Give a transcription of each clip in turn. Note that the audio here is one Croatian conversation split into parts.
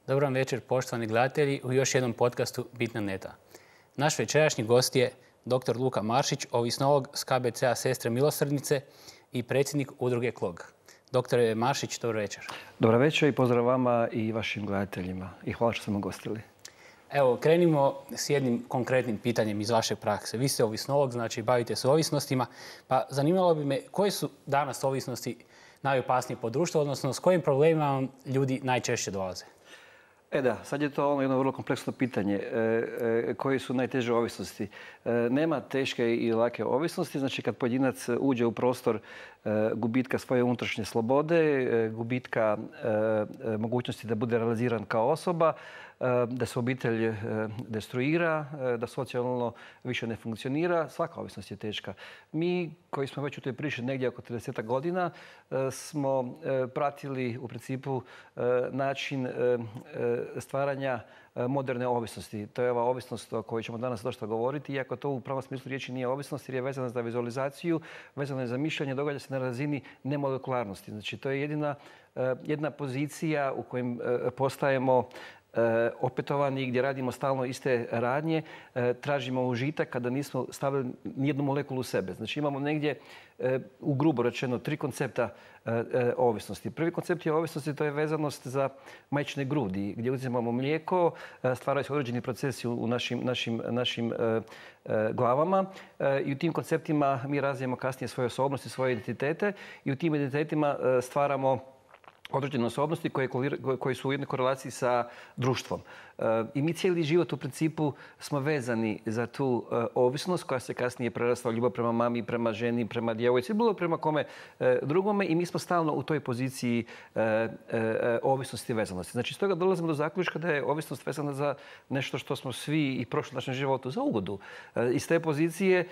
Dobar vam večer, poštovani gledatelji, u još jednom podcastu Bitna neta. Naš večerašnji gost je dr. Luka Maršić, ovisnolog s KBC-a Sestre milosrdnice i predsjednik udruge KLOG. Doktore Maršić, dobro večer. Dobro večer i pozdrav vama i vašim gledateljima. I hvala što ste me ugostili. Evo, krenimo s jednim konkretnim pitanjem iz vaše prakse. Vi ste ovisnolog, znači bavite se ovisnostima, pa zanimalo bi me koje su danas ovisnosti najopasnije po društvu, odnosno s kojim problemima vam ljudi najčešće dolaze? Sad je to jedno vrlo kompleksno pitanje. Koje su najteže ovisnosti? Nema teške i lake ovisnosti. Znači, kad pojedinac uđe u prostor gubitka svoje unutrašnje slobode, gubitka mogućnosti da bude realiziran kao osoba, da se obitelj destruira, da socijalno više ne funkcionira, svaka ovisnost je teška. Mi koji smo već u toj priči negdje oko 30 godina smo pratili u principu način stvaranja moderne ovisnosti. To je ova ovisnost o kojoj ćemo danas dosta govoriti, iako to u pravom smislu riječi nije ovisnost jer je vezana za vizualizaciju, vezana je za mišljenje, događa se na razini nemolekularnosti. Znači, to je jedna pozicija u kojem postajemo opetovani, gdje radimo stalno iste radnje, tražimo užitak kada nismo stavili nijednu molekulu u sebe. Znači imamo negdje, u grubo rečeno, 3 koncepta ovisnosti. Prvi koncept je ovisnosti, to je vezanost za majčine grudi, gdje uzimamo mlijeko, stvaraju se određeni procesi u našim glavama i u tim konceptima mi razvijemo kasnije svoje osobnosti, svoje identitete i u tim identitetima stvaramo određene osobnosti koje su u jednoj korelaciji sa društvom. I mi cijeli život u principu smo vezani za tu ovisnost koja se kasnije prerasla u ljubav prema mami, prema ženi, prema djevojci, bilo prema kome drugome i mi smo stalno u toj poziciji ovisnosti i vezanosti. Znači, stoga dolazimo do zaključka da je ovisnost vezana za nešto što smo svi i prošli u našem životu za ugodu. Iz te pozicije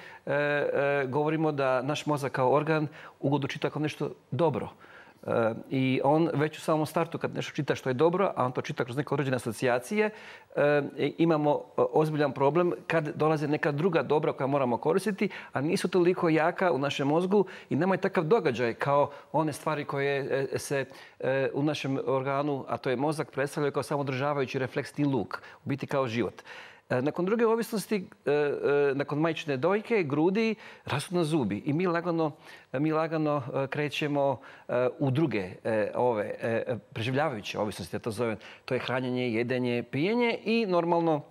govorimo da naš mozak kao organ ugodu čita kao nešto dobro. I on već u samom startu kad nešto čita što je dobro, a on to čita kroz neke određene asocijacije, imamo ozbiljan problem kad dolaze neka druga dobra koja moramo koristiti, a nisu toliko jaka u našem mozgu i nemaju takav događaj kao one stvari koje se u našem organu, a to je mozak, predstavljaju kao samodržavajući refleksni luk, u biti kao život. Nakon druge ovisnosti, nakon majčine dojke, grudi, rastu nam zubi i mi lagano krećemo u druge preživljavajuće ovisnosti, ja to zovem. To je hranjenje, jedenje, pijenje i normalno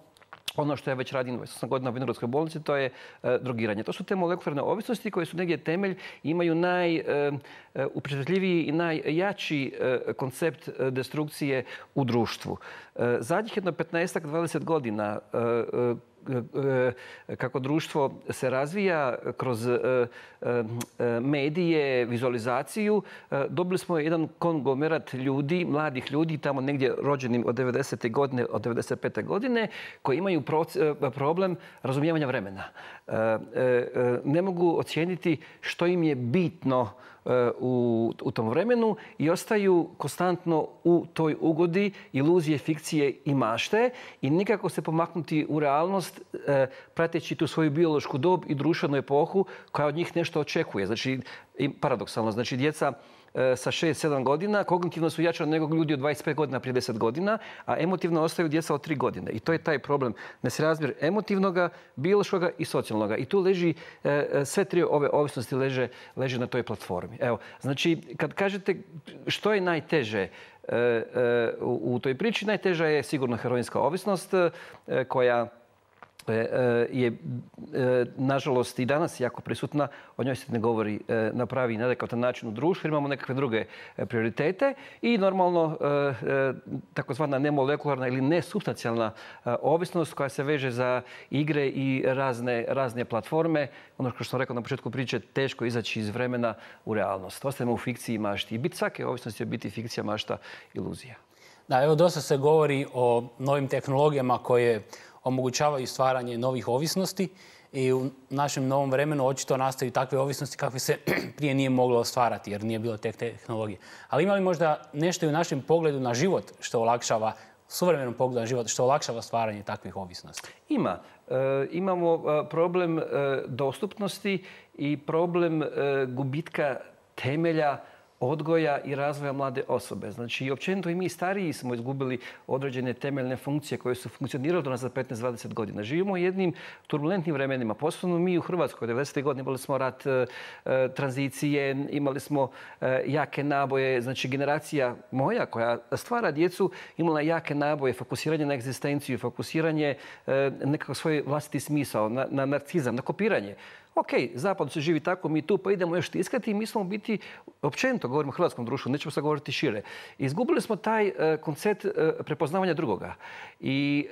ono što ja već radim 28 godina u Vinogradskoj bolnici, to je drogiranje. To su te molekularne ovisnosti koje su negdje temelj, imaju najupečatljiviji i najjači koncept destrukcije u društvu. Zadnjih jedno 15-20 godina kako društvo se razvija kroz medije, vizualizaciju, dobili smo jedan konglomerat ljudi, mladih ljudi, tamo negdje rođenim od 90. godine, od 95. godine, koji imaju problem razumijevanja vremena. Ne mogu ocijeniti što im je bitno u tom vremenu i ostaju konstantno u toj ugodi, iluzije, fikcije i mašte i nikako se pomaknuti u realnost prateći tu svoju biološku dob i društvenu epohu koja od njih nešto očekuje. Znači, paradoksalno, znači djeca sa 6-7 godina kognitivno su jača nego ljudi od 25 godina prije 10 godina, a emotivno ostaju djeca od 3 godine. I to je taj problem. Nesrazmjer emotivnoga, biološkoga i socijalnoga. I tu leži, sve 3 ove ovisnosti leže na toj platformi. Evo, znači, kad kažete što je najteže u toj priči, najteža je sigurno heroinska ovisnost koja je nažalost i danas jako prisutna, o njoj se ne govori na pravi i neadekvatan način u društvu, imamo nekakve druge prioritete i normalno takozvana nemolekularna ili nesupstancijalna ovisnost koja se veže za igre i razne platforme. Ono što sam rekao na početku priče, teško izaći iz vremena u realnost. Ostajemo u fikciji i mašti. I bit svake ovisnosti je biti fikcija, mašta, iluzija. Da, evo dosta se govori o novim tehnologijama koje omogućavaju stvaranje novih ovisnosti i u našem novom vremenu očito nastaju takve ovisnosti kakve se prije nije moglo stvarati jer nije bilo te tehnologije. Ali ima li možda nešto i u našem pogledu na život što olakšava, suvremenom pogledu na život, što olakšava stvaranje takvih ovisnosti? Ima. Imamo problem dostupnosti i problem gubitka temelja odgoja i razvoja mlade osobe. Znači, općenito i mi stariji smo izgubili određene temeljne funkcije koje su funkcionirale do nas za 15-20 godina. Živimo u jednim turbulentnim vremenima. Posebno mi u Hrvatskoj, 90. godine imali smo rat, tranzicije, imali smo jake naboje. Znači, generacija moja koja stvara djecu imala jake naboje, fokusiranje na egzistenciju, fokusiranje nekakav svoj vlastiti smisao, na narcizam, na kopiranje. Ok, zapad se živi tako, mi tu pa idemo još tiskati i mi smo u biti, općenito govorimo o hrvatskom društvu, nećemo sad govoriti šire. Izgubili smo taj koncept prepoznavanja drugoga. I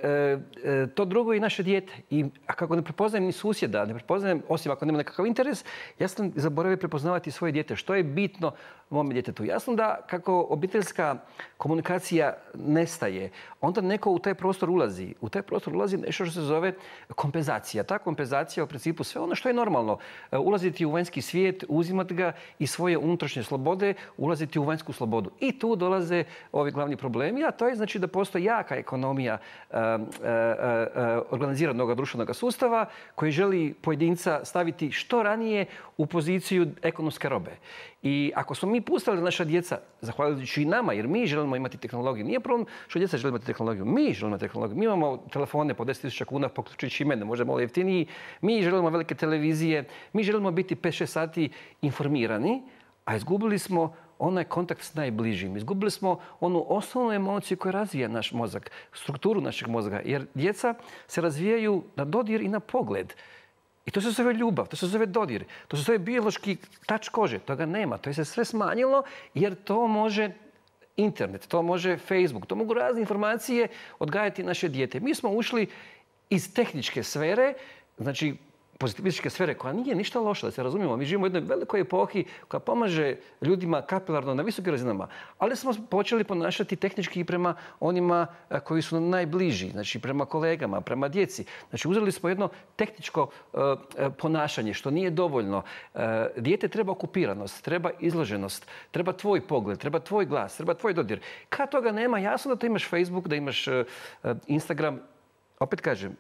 to drugo je i naše dijete. I kako ne prepoznajem ni susjeda, ne prepoznajem, osim ako nema nekakav interes, ja sam zaboravio prepoznavati svoje dijete. Što je bitno mome djetetu? Jasno da kako obiteljska komunikacija nestaje, onda neko u taj prostor ulazi. U taj prostor ulazi nešto što se zove kompenzacija. Ta kompenzacija u principu sve ono što je normalno. Ulaziti u vanjski svijet, uzimati ga i svoje unutrašnje slobode, ulaziti u vanjsku slobodu. I tu dolaze ovi glavni problemi, a to je znači da postoji jaka ekonomija organiziranog društvenog sustava koji želi pojedinca staviti što ranije u poziciju ekonomske robe. I ako smo mi pustili naša djeca, zahvaljujući i nama, jer mi želimo imati tehnologiju, nije problem što djeca žele imati tehnologiju, mi želimo tehnologiju. Mi imamo telefone po 10.000 kuna, poključujući i mene, možda malo jeftiniji, mi želimo velike televizije, mi želimo biti 5-6 sati informirani, a izgubili smo onaj kontakt s najbližim. Izgubili smo onu osnovnu emociju koja razvija naš mozak, strukturu našeg mozga, jer djeca se razvijaju na dodir i na pogled. I to se zove ljubav, to se zove dodir, to se zove biološki tač kože. Toga nema, to je se sve smanjilo jer to može internet, to može Facebook, to mogu razne informacije odgajati naše dijete. Mi smo ušli iz tehničke sfere, znači pozitivističke sfere, koja nije ništa loša, da se razumijemo. Mi živimo u jednoj velikoj epohi koja pomaže ljudima kapilarno na visokim razinama, ali smo počeli ponašati tehnički i prema onima koji su nam najbliži, znači prema kolegama, prema djeci. Znači uzeli smo jedno tehničko ponašanje što nije dovoljno. Dijete treba okupiranost, treba izloženost, treba tvoj pogled, treba tvoj glas, treba tvoj dodir. Kad toga nema, jasno da ti imaš Facebook, da imaš Instagram. Opet kažem,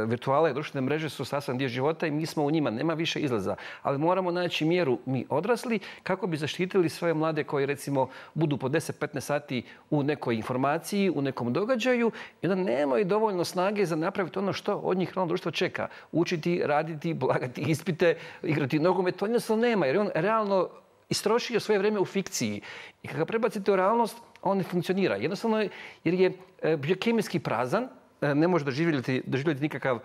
virtualne i društvene mreže su sastavni dio života i mi smo u njima, nema više izlaza. Ali moramo naći mjeru mi odrasli kako bi zaštitili svoje mlade koji recimo budu po 10-15 sati u nekoj informaciji, u nekom događaju i onda nemaju dovoljno snage za napraviti ono što od njih realno društvo čeka. Učiti, raditi, polagati ispite, igrati nogomet, to jednostavno nema jer on realno istrošio svoje vrijeme u fikciji. I kada ga prebacite u realnost, on ne funkcionira. Jednostavno jer je biokemijski prazan, ne može doživjeti nikakav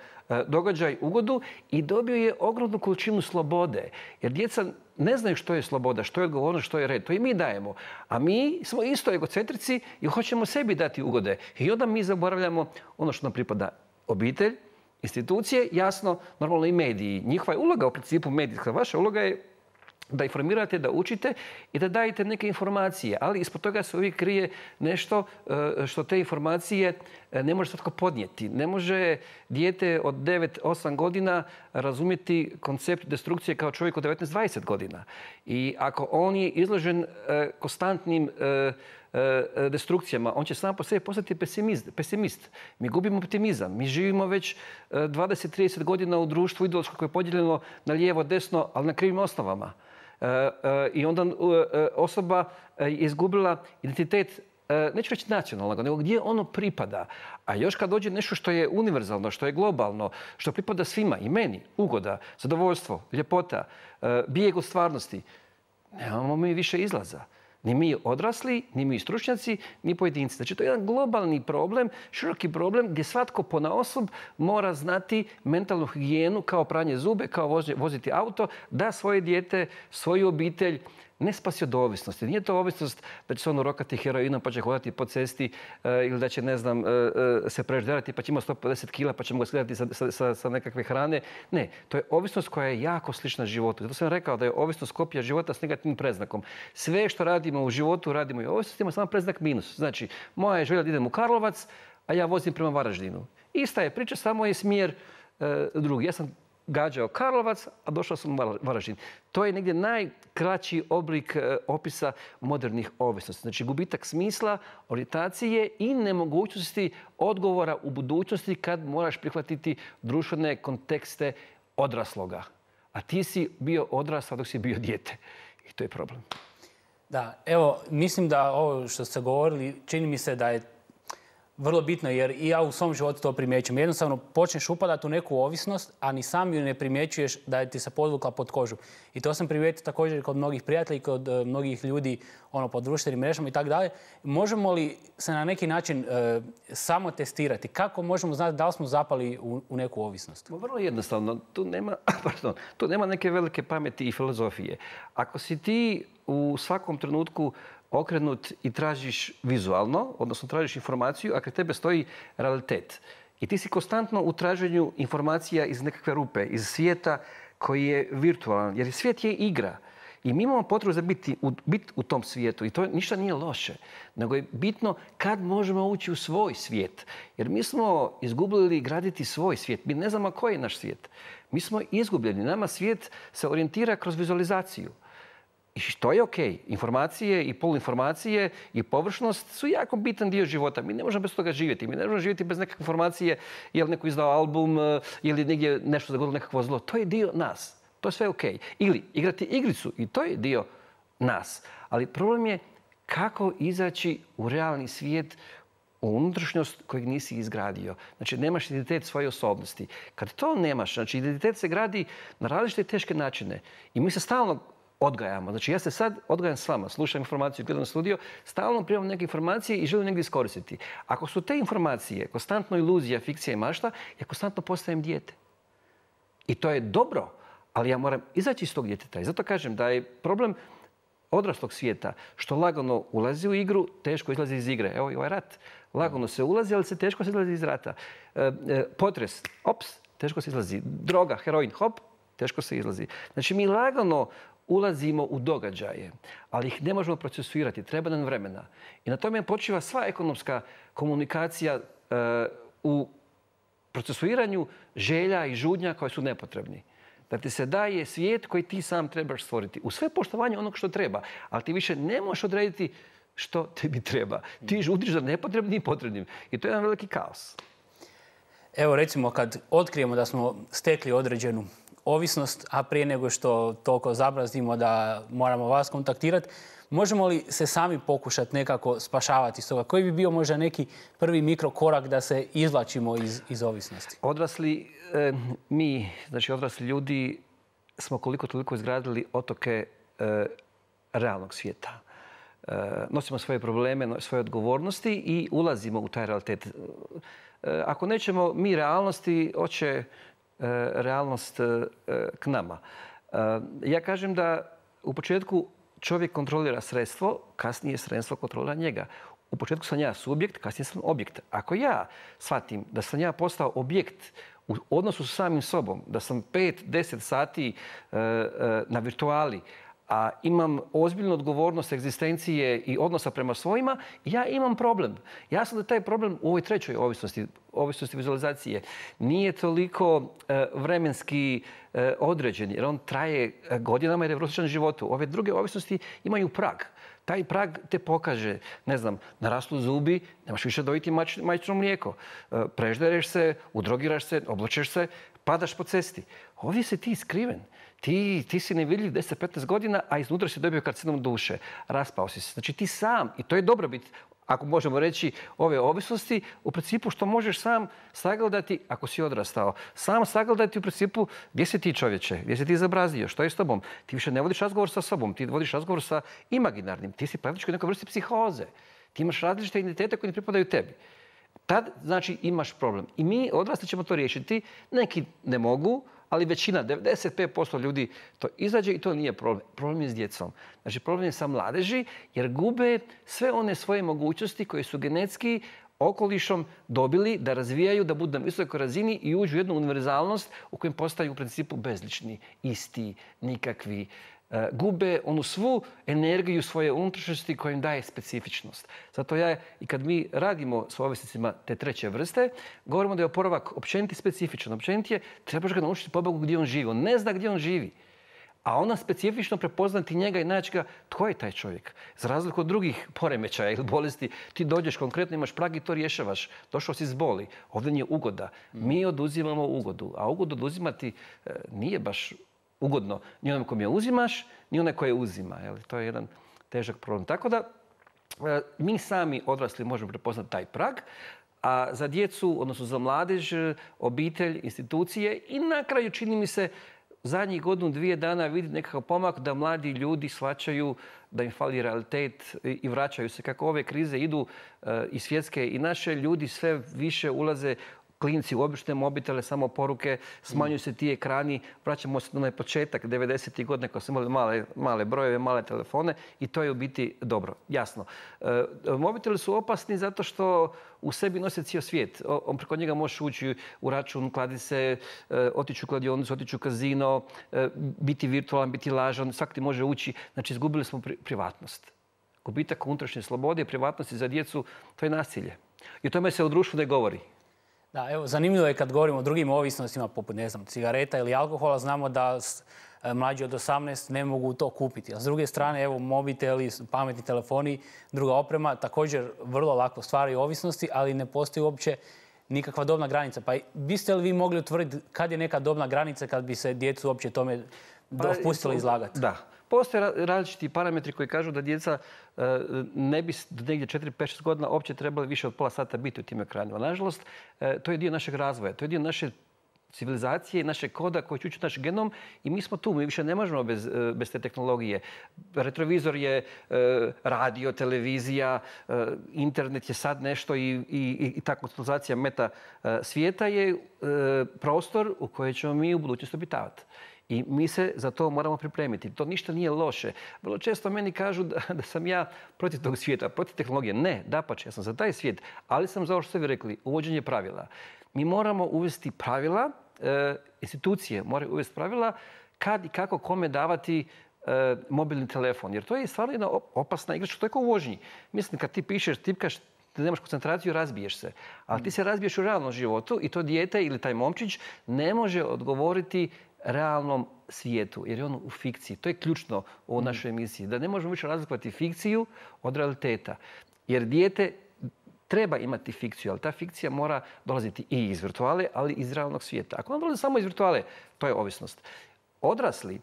događaj, ugodu i dobio je ogromnu količinu slobode. Jer djeca ne znaju što je sloboda, što je odgovornost, što je red. To i mi dajemo. A mi smo isto egocentrici i hoćemo sebi dati ugode. I onda mi zaboravljamo ono što nam pripada. Obitelj, institucije, jasno, normalno i mediji. Njihova je uloga u principu medijska. Vaša uloga je da informirate, da učite i da dajete neke informacije. Ali ispod toga se uvijek krije nešto što te informacije ne može svatko podnijeti. Ne može dijete od 9-8 godina razumjeti koncept destrukcije kao čovjek od 19-20 godina. I ako on je izložen konstantnim destrukcijama, on će sam po sebi postati pesimist. Mi gubimo optimizam. Mi živimo već 20-30 godina u društvu ideološko koje je podijeljeno na lijevo, desno, ali na krivim osnovama. I onda osoba je izgubila identitet, neću reći nacionalnog, nego gdje ono pripada. A još kad dođe nešto što je univerzalno, što je globalno, što pripada svima, i meni, ugoda, zadovoljstvo, ljepota, bijeg od stvarnosti, nemamo mi više izlaza. Ni mi odrasli, ni mi stručnjaci, ni pojedinci. Znači, to je jedan globalni problem, široki problem gdje svatko ponaosob mora znati mentalnu higijenu kao pranje zube, kao voziti auto, da svoje dijete, svoju obitelj ne spasi od ovisnosti. Nije to ovisnost da će se on urokati heroinom pa će hodati po cesti ili da će, ne znam, se prežderati pa će imati 150 kila pa ćemo ga skidati sa nekakve hrane. Ne, to je ovisnost koja je jako slična životu. Zato sam rekao da je ovisnost kopija života s negativnim predznakom. Sve što radimo u životu radimo i u ovisnosti, ima samo predznak minus. Znači, moja je želja da idem u Karlovac, a ja vozim prema Varaždinu. Ista je priča, samo je smjer drugi. Ja sam gađao Karlovac, a došao sam u Varaždin. To je negdje najkraći oblik opisa modernih ovisnosti. Znači gubitak smisla, orijentacije i nemogućnosti odgovora u budućnosti kad moraš prihvatiti društvene kontekste odrasloga. A ti si bio odrastao dok si bio dijete. I to je problem. Da, evo, mislim da ovo što ste govorili, čini mi se da je vrlo bitno, jer i ja u svom životu to primjećujem. Jednostavno počneš upadati u neku ovisnost, a ni sam ju ne primjećuješ da je ti se podvukla pod kožu. I to sam primijetio također kod mnogih prijatelja, kod mnogih ljudi po društvenim mrežama i tako dalje. Možemo li se na neki način samo testirati? Kako možemo znati da li smo zapali u neku ovisnost? Vrlo jednostavno. Tu nema neke velike pameti i filozofije. Ako si ti u svakom trenutku okrenut i tražiš vizualno, odnosno tražiš informaciju, a kraj tebe stoji realitet. I ti si konstantno u traženju informacija iz nekakve rupe, iz svijeta koji je virtualan. Jer svijet je igra. I mi imamo potrebu za biti u tom svijetu. I to ništa nije loše. Nego je bitno kad možemo ući u svoj svijet. Jer mi smo izgubili graditi svoj svijet. Mi ne znamo koji je naš svijet. Mi smo izgubljeni. Nama svijet se orijentira kroz vizualizaciju. I što je ok. Informacije i poluinformacije i površnost su jako bitan dio života. Mi ne možemo bez toga živjeti. Mi ne možemo živjeti bez nekakve informacije, je li neko izdao album ili negdje nešto zagodilo nekakvo zlo. To je dio nas. To je sve ok. Ili igrati igricu i to je dio nas. Ali problem je kako izaći u realni svijet, u unutrašnjost kojeg nisi izgradio. Znači, nemaš identitet svoje osobnosti. Kad to nemaš, znači identitet se gradi na različite teške načine. I mi se stalno odgajamo. Znači, ja se sad odgajam s vama, slušam informaciju, gledam studio, stalno primam neke informacije i želim negdje iskoristiti. Ako su te informacije konstantno iluzija, fikcija i mašta, ja konstantno postajem dijete. I to je dobro, ali ja moram izaći iz tog djeteta. I zato kažem da je problem odraslog svijeta što lagano ulazi u igru, teško izlazi iz igre. Evo i ovaj rat. Lagano se ulazi, ali se teško se izlazi iz rata. Potres, ops, teško se izlazi. Droga, heroin, hop, teško se izlazi. Znači, mi lagano ulazimo u događaje, ali ih ne možemo procesuirati. Treba nam vremena. I na tome počiva sva ekonomska komunikacija u procesuiranju želja i žudnja koje su nepotrebni. Da ti se daje svijet koji ti sam trebaš stvoriti. U sve poštovanje onog što treba. Ali ti više ne možeš odrediti što tebi treba. Ti žudiš za nepotrebnim i potrebnim. I to je jedan veliki kaos. Evo, recimo, kad otkrijemo da smo stekli određenu ovisnost, a prije nego što toliko zabrazdimo da moramo vas kontaktirati, možemo li se sami pokušati nekako spašavati iz toga? Koji bi bio možda neki prvi mikrokorak da se izvlačimo iz ovisnosti? Odrasli, znači odrasli ljudi, smo koliko toliko izgradili otoke realnog svijeta. Nosimo svoje probleme, svoje odgovornosti i ulazimo u taj realitet. Ako nećemo mi realnosti, hoće realnost k nama. Ja kažem da u početku čovjek kontrolira sredstvo, kasnije sredstvo kontrolira njega. U početku sam ja subjekt, kasnije sam objekt. Ako ja shvatim da sam ja postao objekt u odnosu sa samim sobom, da sam 5-10 sati na virtuali, a imam ozbiljnu odgovornost egzistencije i odnosa prema svojima, ja imam problem. Jasno da taj problem u ovoj trećoj ovisnosti vizualizacije, nije toliko vremenski određen, jer on traje godinama jer je prosječan životu. Ove druge ovisnosti imaju prag. Taj prag te pokaže, ne znam, naraslu zubi, nemaš više dojiti majčino mlijeko. Preždereš se, udrogiraš se, oblačeš se, padaš po cesti. Ovdje si ti skriven. Ti si nevidljiv 10-15 godina, a iznutra si dobio karcinom duše. Raspao si se. Znači ti sam, i to je dobrobit, ako možemo reći, ove ovisnosti, u principu što možeš sam sagledati, ako si odrastao, sam sagledati u principu gdje si ti čovječe, gdje si ti zabrazdio, što je s tobom. Ti više ne vodiš razgovor sa sobom, ti vodiš razgovor sa imaginarnim. Ti si praktički u nekoj vrsti psihoze. Ti imaš različite identitete koji ne pripadaju tebi. Tad, znači, imaš problem. I mi odrasli ćemo to riješiti. Neki ne mogu, ali većina, 95% ljudi to izađe i to nije problem. Problem je s djecom. Znači, problem je sa mladeži jer gube sve one svoje mogućnosti koje su genetski okolišom dobili da razvijaju, da budu na visokoj razini i uđu u jednu univerzalnost u kojem postaju u principu bezlični, isti, nikakvi. Gube onu svu energiju svoje unutrašnjosti koja im daje specifičnost. Zato i kad mi radimo s ovisnicima te treće vrste, govorimo da je oporavak općeniti specifičan. Općenit je, trebaš ga naučiti pobogu gdje on živi. On ne zna gdje on živi. A ona specifično prepoznati njega i naći ga, tko je taj čovjek. Za razliku od drugih poremećaja ili bolesti, ti dođeš konkretno, imaš prag i to rješavaš. Došao si s boli. Ovdje nije ugoda. Mi oduzimamo ugodu. A ugodu oduzimati nije baš ugodno ni onom kom je uzimaš, ni onaj koje uzima. To je jedan težak problem. Tako da mi sami odrasli možemo prepoznati taj prag, a za djecu, odnosno za mladež, obitelj, institucije i na kraju čini mi se zadnjih godinu, 2 dana vidi nekakav pomak da mladi ljudi shvaćaju da im fali realitet i vraćaju se. Kako ove krize idu i svjetske i naše, ljudi sve više ulaze klinci u obične mobitele, samo poruke, smanjuju se ti ekrani, vraćamo se na onaj početak 90. godina kad smo imali male brojeve, male telefone i to je u biti dobro. Jasno. Mobiteli su opasni zato što u sebi nose cijel svijet. Preko njega možeš ući u račun, kladice, otići u kladionicu, otići u kazino, biti virtualan, biti lažan, svak ti može ući. Znači, izgubili smo privatnost. Gubitak unutrašnje slobode i privatnosti za djecu, to je nasilje. I o tome se u društvu ne govori. Da, evo, zanimljivo je kad govorimo o drugim ovisnostima, poput, ne znam, cigareta ili alkohola, znamo da mlađi od 18 ne mogu to kupiti. A s druge strane, evo, mobiteli, pametni telefoni, druga oprema, također vrlo lako stvaraju ovisnosti, ali ne postoji uopće nikakva dobna granica. Pa biste li vi mogli utvrditi kad je neka dobna granica kad bi se djecu uopće tome dopustili izlagati? Da. Postoje različiti parametri koji kažu da djeca ne bi do negdje 4, 5, 6 godina uopće trebali više od pola sata biti u tim ekranima. Nažalost, to je dio našeg razvoja, to je dio naše civilizacije i našeg koda koji će ući naš genom i mi smo tu, mi više ne možemo bez te tehnologije. Retrovizor je radio, televizija, internet je sad nešto i ta konstelacija meta svijeta je prostor u kojem ćemo mi u budućnosti obitavati. I mi se za to moramo pripremiti. To ništa nije loše. Vrlo često meni kažu da sam ja protiv tog svijeta, protiv tehnologije. Ne, dapače, ja sam za taj svijet, ali sam za ovo što ste vi rekli, uvođenje pravila. Mi moramo uvesti pravila, institucije moraju uvesti pravila kad i kako kome davati mobilni telefon. Jer to je stvarno jedna opasna igračka, to je kao u vožnji. Mislim, kad ti pišeš, tipkaš, da nemaš koncentraciju, razbiješ se. Ali ti se razbiješ u realnom životu i to dijete ili taj momčić ne može odgovoriti realnom svijetu, jer je on u fikciji. To je ključno u našoj emisiji. Da ne možemo više razlikovati fikciju od realiteta. Jer dijete treba imati fikciju, ali ta fikcija mora dolaziti i iz virtuale, ali i iz realnog svijeta. Ako on dolazi samo iz virtuale, to je ovisnost. Odrasli,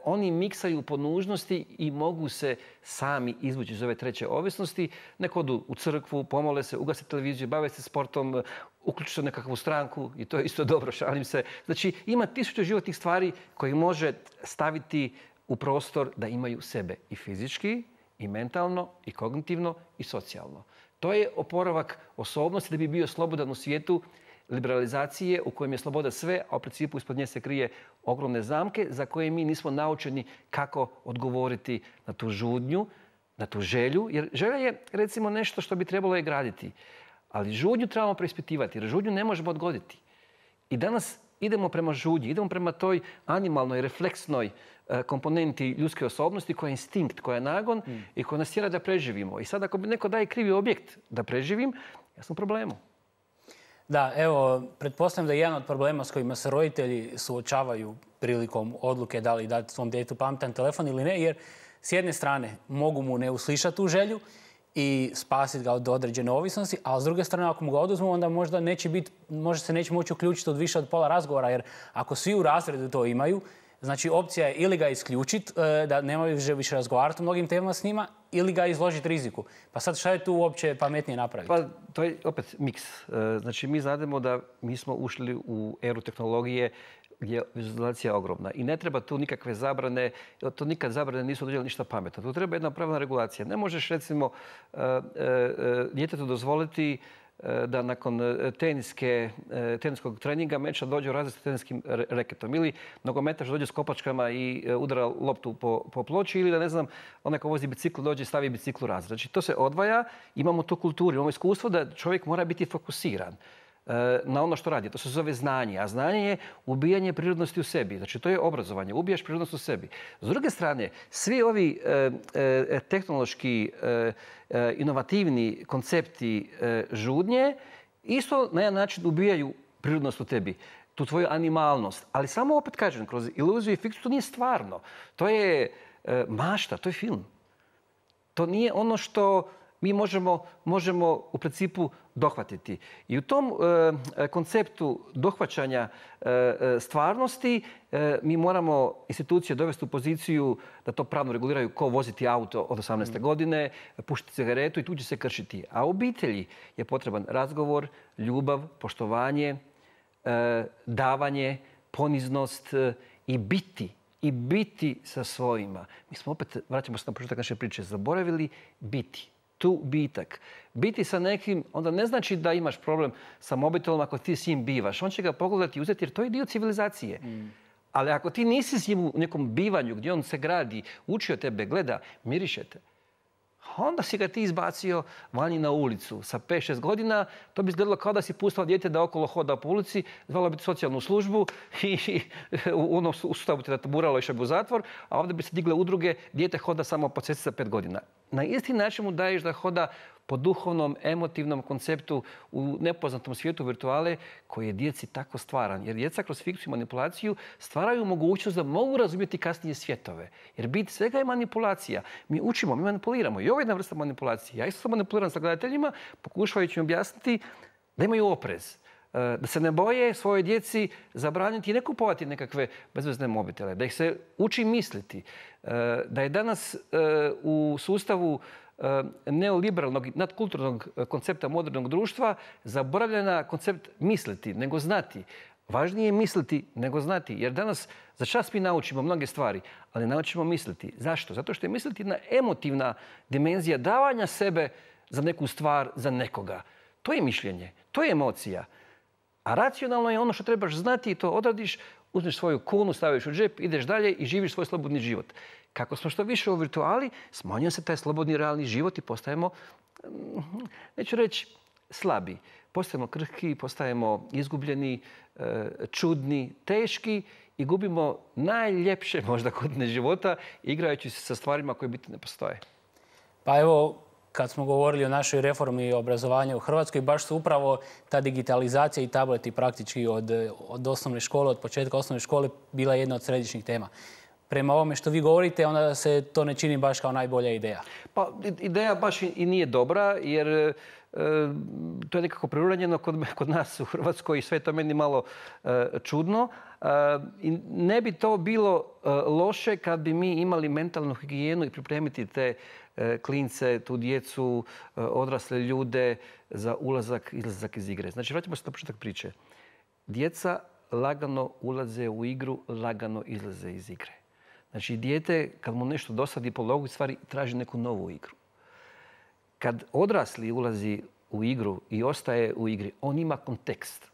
oni miksaju po nužnosti i mogu se sami izvući iz ove treće ovisnosti. Neko odu u crkvu, pomole se, ugase televiziju, bave se sportom, uključi se u nekakvu stranku i to je isto dobro, šalim se. Znači, ima 1000 životnih stvari koje može staviti u prostor da imaju sebe i fizički, i mentalno, i kognitivno, i socijalno. To je oporavak osobnosti da bi bio slobodan u svijetu liberalizacije u kojem je sloboda sve, a u principu ispod nje se krije ogromne zamke za koje mi nismo naučeni kako odgovoriti na tu žudnju, na tu želju. Jer želja je, recimo, nešto što bi trebalo je graditi. Ali žudnju trebamo preispitivati, jer žudnju ne možemo odgoditi. I danas idemo prema žudnji, idemo prema toj animalnoj, refleksnoj komponenti ljudske osobnosti koja je instinkt, koja je nagon i koja nas tjera da preživimo. I sad ako bi neko daje krivi objekt da preživim, ja sam u problemu. Da, evo, pretpostavljam da je jedan od problema s kojima se roditelji suočavaju prilikom odluke da li dati svom djetetu pametan telefon ili ne, jer s jedne strane mogu mu ne uslišati tu želju i spasiti ga od određene ovisnosti, a s druge strane ako mu ga oduzmu, onda možda se neće moći uključiti od više od pola razgovora, jer ako svi u razredu to imaju, znači opcija je ili ga isključiti, da nemaju više razgovarati o mnogim temama s njima, ili ga izložiti riziku. Pa sad šta je tu uopće pametnije napraviti? Pa to je opet miks. Znači mi znademo da mi smo ušli u eru tehnologije gdje je vizualizacija ogromna. I ne treba tu nikakve zabrane, to nikad zabrane nisu određene ništa pametno. Tu treba jedna pravilna regulacija. Ne možeš recimo djetetu dozvoliti da nakon teniskog treninga meča dođe u razred s teniskim reketom. Ili nogometaš dođe s kopačkama i udara loptu po ploči. Ili da ne znam, onaj ko vozi bicikl dođe i stavi bicikl u razred. Znači to se odvaja, imamo tu kulturu, imamo iskustvo da čovjek mora biti fokusiran na ono što radi. To se zove znanje. A znanje je ubijanje prirodnosti u sebi. Znači to je obrazovanje. Ubijaš prirodnost u sebi. S druge strane, svi ovi tehnološki inovativni koncepti žudnje isto na jedan način ubijaju prirodnost u tebi. Tu tvoju animalnost. Ali samo opet kažem, kroz iluziju i fikciju to nije stvarno. To je mašta, to je film. To nije ono što mi možemo u principu dohvatiti. I u tom konceptu dohvaćanja stvarnosti mi moramo institucije dovesti u poziciju da to pravno reguliraju ko voziti auto od 18. godine, pušiti cigaretu i tu će se kršiti. A u obitelji je potreban razgovor, ljubav, poštovanje, davanje, poniznost i biti sa svojima. Mi smo opet, vraćamo se na početak naše priče, zaboravili biti. Tu bitak. Biti sa nekim, onda ne znači da imaš problem sa mobitelom ako ti s njim bivaš. On će ga pogledati i uzeti jer to je dio civilizacije. Ali ako ti nisi s njim u nekom bivanju gdje on se gradi, uči od tebe, gleda, mirišete, onda si ga ti izbacio vani na ulicu. Sa 5-6 godina to bi izgledalo kao da si pustao dijete da okolo hoda po ulici, zvalo bi socijalnu službu i u onom sustavu te taburalo išao bi u zatvor, a ovdje bi se digle udruge, dijete hoda samo po cesti sa 5 godina. Na isti način mu daješ da hoda po duhovnom, emotivnom konceptu u nepoznatom svijetu virtuale koji je djeci tako stvaran. Jer djeca kroz fikciju i manipulaciju stvaraju mogućnost da mogu razumjeti kasnije svjetove. Jer bit svega je manipulacija. Mi učimo, mi manipuliramo. I ovo je jedna vrsta manipulacije. Ja isto manipuliram sa gledateljima pokušavajući im objasniti da imaju oprez. Da se ne boje svojoj djeci zabraniti i ne kupovati nekakve bezvezne mobitele. Da ih se uči misliti. Da je danas u sustavu neoliberalnog, nadkulturnog koncepta modernog društva zaboravljena koncept misliti, nego znati. Važnije je misliti nego znati. Jer danas za čas mi naučimo mnoge stvari, ali naučimo misliti. Zašto? Zato što je misliti jedna emotivna dimenzija davanja sebe za neku stvar, za nekoga. To je mišljenje, to je emocija. A racionalno je ono što trebaš znati i to odradiš, uzmeš svoju kunu, staviš u džep, ideš dalje i živiš svoj slobodni život. Kako smo što više u virtuali, smanjuje se taj slobodni realni život i postajemo, neću reći, slabi. Postajemo krhki, postajemo izgubljeni, čudni, teški i gubimo najljepše možda godine života igrajući se sa stvarima koje biti ne postoje. Pa evo, kad smo govorili o našoj reformi obrazovanja u Hrvatskoj, baš su upravo ta digitalizacija i tableti praktički od osnovne škole, od početka osnovne škole bila jedna od središnjih tema. Prema ovome što vi govorite, onda se to ne čini baš kao najbolja ideja. Pa ideja baš i nije dobra, jer to je nekako preuranjeno kod nas u Hrvatskoj i sve je to meni malo čudno. I ne bi to bilo loše kad bi mi imali mentalnu higijenu i pripremiti te klince, tu djecu, odrasle ljude za ulazak, izlazak iz igre. Znači, vraćamo se na početak priče. Djeca lagano ulaze u igru, lagano izlaze iz igre. Znači, dijete, kad mu nešto dosadi po logici stvari, traži neku novu igru. Kad odrasli ulazi u igru i ostaje u igri, on ima kontekst.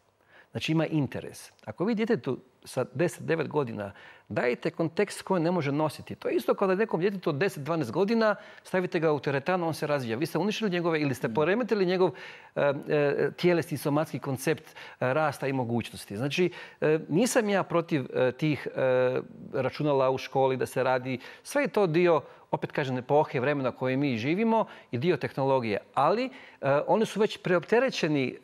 Znači, ima interes. Ako vi djetetu sa 10-9 godina dajete kontekst koji ne može nositi, to je isto kao da nekom djetetu od 10-12 godina stavite ga u teretanu, on se razvija. Vi ste uništili njegove ili ste poremetili njegov tjelesni somatski koncept rasta i mogućnosti. Znači, nisam ja protiv tih računala u školi da se radi. Sve je to dio, opet kažem, epohe, vremena koje mi živimo i dio tehnologije. Ali oni su već preopterećeni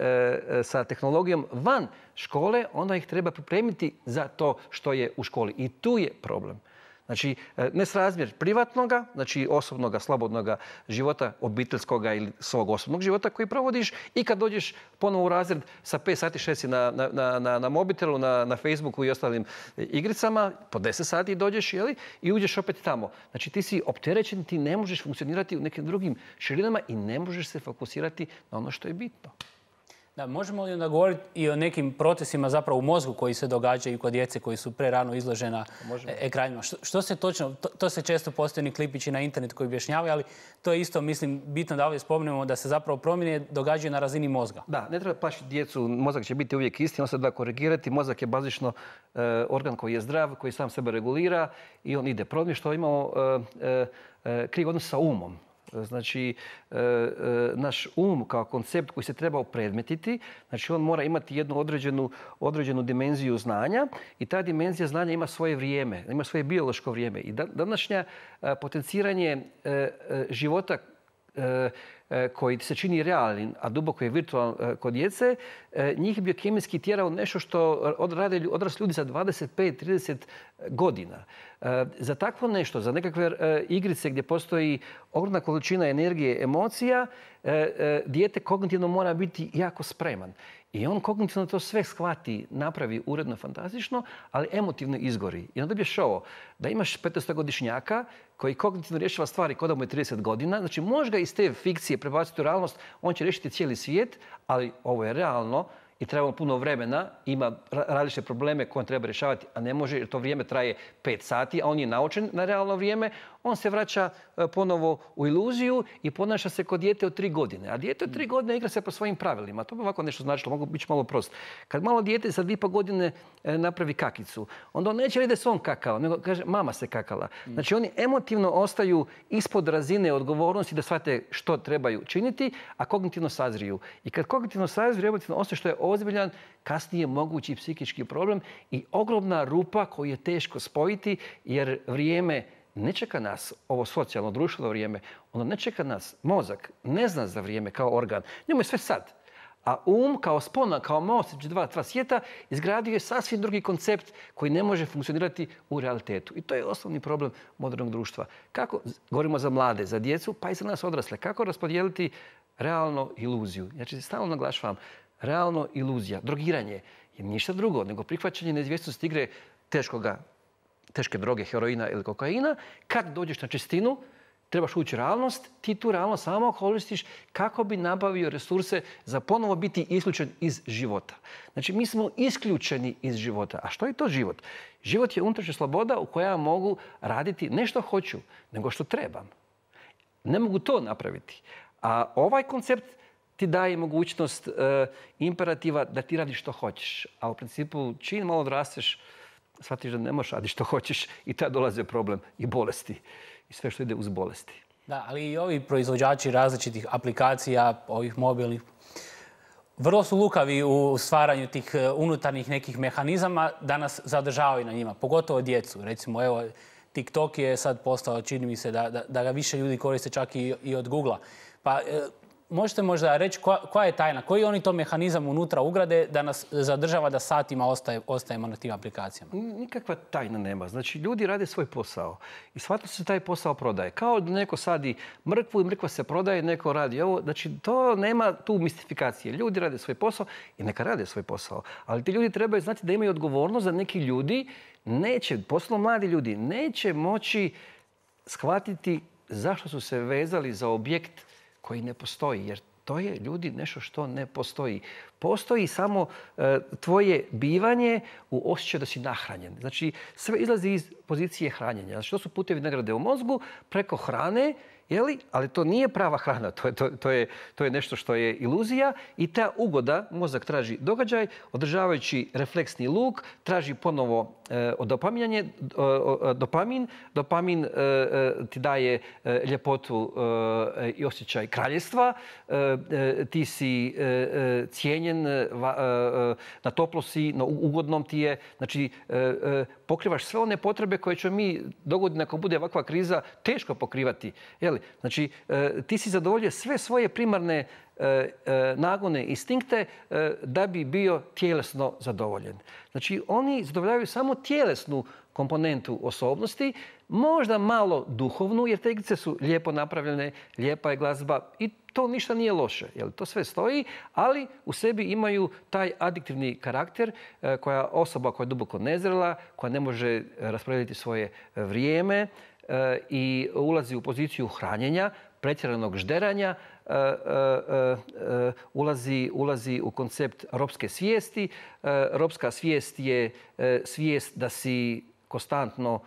sa tehnologijom van škole, onda ih treba pripremiti za to što je u školi. I tu je problem. Znači, nesrazmjer privatnoga, znači osobnoga, slobodnoga života, obiteljskoga ili svog osobnog života koji provodiš i kad dođeš ponovo u razred sa 5 sati, 6 si na mobitelu, na Facebooku i ostalim igricama, po 10 sati dođeš i uđeš opet tamo. Znači, ti si opterećen, ti ne možeš funkcionirati u nekim drugim širinama i ne možeš se fokusirati na ono što je bitno. Da, možemo li onda govoriti i o nekim procesima zapravo u mozgu koji se događaju kod djece koji su prerano izložena ekranima? Što se točno, to se često postoje klipići na internetu koji objašnjavaju, ali to je isto, mislim, bitno da ovdje spomenemo da se zapravo promjene događaju na razini mozga. Da, ne treba plašiti djecu, mozak će biti uvijek isti, on se da korigirati. Mozak je bazično organ koji je zdrav, koji sam sebe regulira i on ide. Problem je što imamo kriv odnos sa umom. Znači, naš um kao koncept koji se treba opredmetiti, znači on mora imati jednu određenu dimenziju znanja i ta dimenzija znanja ima svoje vrijeme, ima svoje biološko vrijeme. I današnja potenciranje života koji ti se čini realnim, a duboko je virtualan kod djece, njih biokemijski tjera u nešto što rade odrasli ljudi za 25-30 godina. Za takvo nešto, za nekakve igrice gdje postoji ogromna količina energije, emocija, dijete kognitivno mora biti jako spreman. I on kognitivno to sve shvati, napravi uredno, fantastično, ali emotivno izgori. I onda dobiješ ovo, da imaš 15-godišnjaka koji kognitivno rješava stvari kao da mu je 30 godina. Znači, možeš ga iz te fikcije prebaciti u realnost, on će riješiti cijeli svijet, ali ovo je realno i treba puno vremena, ima različite probleme koje on treba rješavati, a ne može jer to vrijeme traje 5 sati, a on je naučen na realno vrijeme. On se vraća ponovo u iluziju i ponaša se kod dijete od 3 godine. A dijete od 3 godine igra se po svojim pravilima. To bi ovako nešto značilo, mogu biti malo prost. Kad malo dijete sa 2,5 godine napravi kakicu, onda on neće reći da se on kakao, nego kaže mama se kakala. Znači oni emotivno ostaju ispod razine odgovornosti da shvate što trebaju činiti, a kognitivno sazriju. I kad kognitivno sazriju, emotivno ostaje što je ozbiljan, kasnije mogući psihički problem i ogromna rupa koju je teško spojiti jer vrijeme ne čeka nas, ovo socijalno, društveno vrijeme, ono ne čeka nas, mozak ne zna za vrijeme kao organ, njemu je sve sad. A kao spona, kao most između dva svijeta izgradio je sasvim drugi koncept koji ne može funkcionirati u realitetu. I to je osnovni problem modernog društva. Kako, govorimo za mlade, za djecu, pa i za nas odrasle, kako raspodijeliti realno iluziju. Znači, stalno naglašavam, realno iluzija, drogiranje je ništa drugo nego prihvaćanje neizvjesnosti igre teške droge, heroina ili kokaina. Kad dođeš na čistinu, trebaš ući u realnost, ti tu realnost samo koristiš kako bi nabavio resurse za ponovo biti isključen iz života. Znači, mi smo isključeni iz života. A što je to život? Život je unutrašnja sloboda u kojoj ja mogu raditi ne što hoću, nego što trebam. Ne mogu to napraviti. A ovaj koncept ti daje mogućnost imperativa da ti radiš što hoćeš. A u principu, čim malo odrasteš, shvatiš da ne možeš raditi što hoćeš i tada dolaze problem i bolesti. I sve što ide uz bolesti. Da, ali i ovi proizvođači različitih aplikacija, ovih mobilnih, vrlo su lukavi u stvaranju tih unutarnjih nekih mehanizama da nas zadržavaju na njima, pogotovo djecu. Recimo, evo, TikTok je sad postao, čini mi se, da ga više ljudi koriste čak i od Googlea. Pa možete možda reći koja je tajna, koji oni to mehanizam unutra ugrade da nas zadržava da satima ostajemo na tim aplikacijama? Nikakva tajna nema. Znači, ljudi rade svoj posao i shvatno se taj posao prodaje. Kao da neko sadi mrkvu i mrkva se prodaje, neko radi ovo. Znači, to nema tu mistifikacije. Ljudi rade svoj posao i neka rade svoj posao. Ali ti ljudi trebaju znati da imaju odgovornost za neki ljudi posebno mladi ljudi, neće moći shvatiti zašto su se vezali za objekt koji ne postoji, jer to je, ljudi, nešto što ne postoji. Postoji samo tvoje bivanje u osjećaju da si nahranjen. Znači, sve izlazi iz pozicije hranjenja. Znači, to su putevi nagrade u mozgu preko hrane, ali to nije prava hrana, to je nešto što je iluzija i ta ugoda, mozak traži događaj, održavajući refleksni luk, traži ponovo dopamin. Dopamin ti daje ljepotu i osjećaj kraljestva. Ti si cijenjen, na toplo si, na ugodnom ti je. Znači, pokrivaš sve one potrebe koje ćemo mi dogodine ako bude ovakva kriza teško pokrivati. Znači, ti si zadovoljio sve svoje primarne nagone, instinkte da bi bio tjelesno zadovoljen. Znači, oni zadovoljavaju samo tjelesnu komponentu osobnosti, možda malo duhovnu, jer te igrice su lijepo napravljene, lijepa je glazba i to ništa nije loše. To sve stoji, ali u sebi imaju taj adiktivni karakter koja osoba koja je duboko nezrela, koja ne može rasporediti svoje vrijeme i ulazi u poziciju hranjenja, pretjeranog žderanja, ulazi u koncept ropske svijesti. Ropska svijest je svijest da si konstantno